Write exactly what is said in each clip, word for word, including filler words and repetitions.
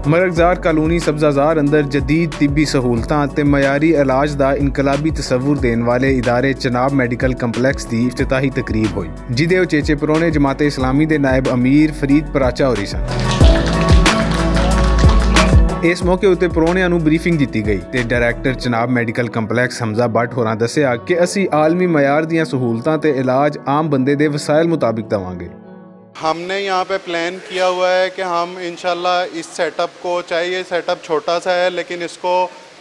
مرغزار کالونی سبزہ زار اندر جدید طبی سہولتاں تے معیاری علاج دا انقلابی تصور دین والے ادارے چناب میڈیکل کمپلیکس دی افتتاحی تقریب ہوئی، جدے اچیچے پرونے جماعت اسلامی دے نائب امیر فرید پراچا ہوری سن۔ اس موقع اتے پرونیاں نوں بریفنگ دتی گئی تے ڈائریکٹر چناب میڈیکل کمپلیکس حمزہ بٹ ہوراں دسیا کہ اسی عالمی معیار دیاں سہولتاں تے علاج عام بندے دے وسائل مطابق دواں گے۔ ہم نے یہاں پہ پلان کیا ہوا ہے کہ ہم انشاءاللہ اس سیٹ اپ کو، چاہے یہ سیٹ اپ چھوٹا سا ہے، لیکن اس کو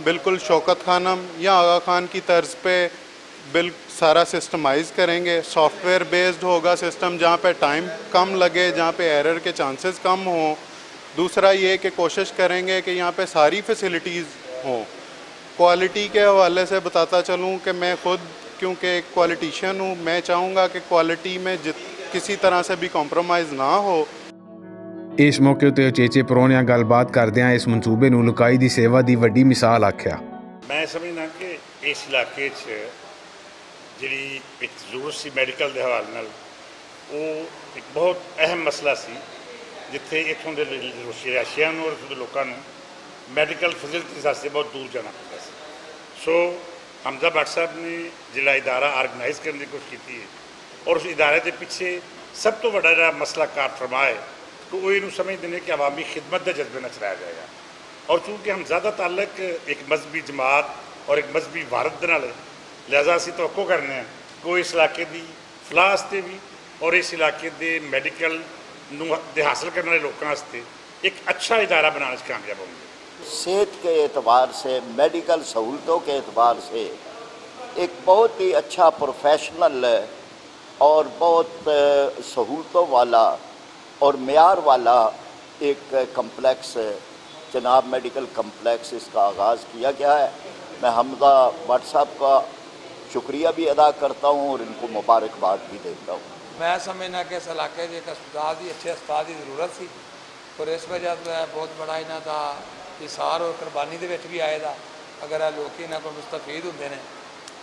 بالکل شوکت خانم یا آغا خان کی طرز پہ بل سارا سسٹمائز کریں گے۔ سافٹ ویئر بیسڈ ہوگا سسٹم، جہاں پہ ٹائم کم لگے، جہاں پہ ایرر کے چانسز کم ہوں۔ دوسرا یہ کہ کوشش کریں گے کہ یہاں پہ ساری فیسلٹیز ہوں۔ کوالٹی کے حوالے سے بتاتا چلوں کہ میں خود، کیونکہ ایک کوالٹیشن ہوں، میں چاہوں گا کہ کوالٹی میں جت کسی طرح سے بھی کمپرومائز نہ ہو۔ اس موقع تے اچیچے پرونیاں گل بات کردیاں اس منصوبے نوں لکائی دی سیوا دی وڈی مثال آکھیا۔ میں سمجھنا کہ اس علاقے 'چ جڑی ایک ضرورت سی میڈیکل دے حوالے نال، وہ ایک بہت اہم مسئلہ سی، جتھے اتھوں دے رہائشیاں نوں اور اتھوں دے لوکاں نوں میڈیکل فیسلٹیز واسطے بہت دور جانا پیندا سی۔ سو حمزہ بٹ صاحب نے جڑا ادارہ آرگنائز کرنے کی کوشش کی ہے، اور اس ادارے دے پیچھے سب تو بڑا جڑا مسئلہ کار فرما ہے، تو وہ یہ سمجھتے ہیں کہ عوامی خدمت دے جذبے نال چلایا جائے گا۔ اور چونکہ ہم زیادہ تعلق ایک مذہبی جماعت اور ایک مذہبی وارد دے نال ہے، لہذا اسی توقع کرنے ہیں کہ وہ اس علاقے دی فلاح واسطے بھی اور اس علاقے دے میڈیکل نوں دے حاصل کرنے والے لوکاں واسطے ایک اچھا ادارہ بنانے 'چ کامیاب ہوں گے۔ صحت کے اعتبار سے، میڈیکل سہولتوں کے اعتبار سے ایک بہت ہی اچھا پروفیشنل اور بہت سہولتوں والا اور معیار والا ایک کمپلیکس، چناب میڈیکل کمپلیکس، اس کا آغاز کیا گیا ہے۔ میں حمزہ بٹ صاحب کا شکریہ بھی ادا کرتا ہوں اور ان کو مبارکباد بھی دیتا ہوں۔ میں سمجھنا کہ اس علاقے 'چ ایک اسپتال دی، اچھے اسپتال دی ضرورت سی، اور اس وجہ تو یہ بہت بڑا انہاں دا اثار اور قربانی دے وچ بھی آئے دا۔ اگر یہ لوکی انہاں کو مستفید ہوندے نے،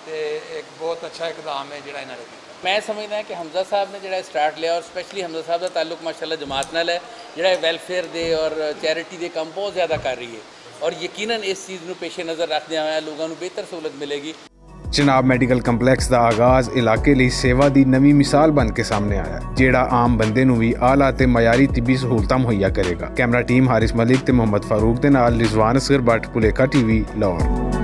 تے ایک بہت اچھا اقدام ہے جڑا انہاں نے کیتا۔ میں سمجھدا ہاں کہ حمزہ صاحب نے جڑا سٹارٹ لیا، اور سپیشلی حمزہ صاحب دا تعلق ماشاءاللہ جماعت نال ہے، جڑا ویلفیئر دے اور چیریٹی دے کم بہت زیادہ کر رہی ہے، اور یقیناً اس چیز نوں پیش نظر رکھدے ہوئے لوگاں نوں بہتر سہولت ملے گی۔ چناب میڈیکل کمپلیکس دا آغاز علاقے لئی سیوا دی نویں مثال بن کے سامنے آیا، جیڑا عام بندے نوں وی اعلیٰ تے معیاری طبی سہولتاں مہیا کرے گا۔ کیمرہ ٹیم حارث ملک تے محمد فاروق دے نال رضوان اصغر بٹ، پلیکا ٹی وی، لاہور۔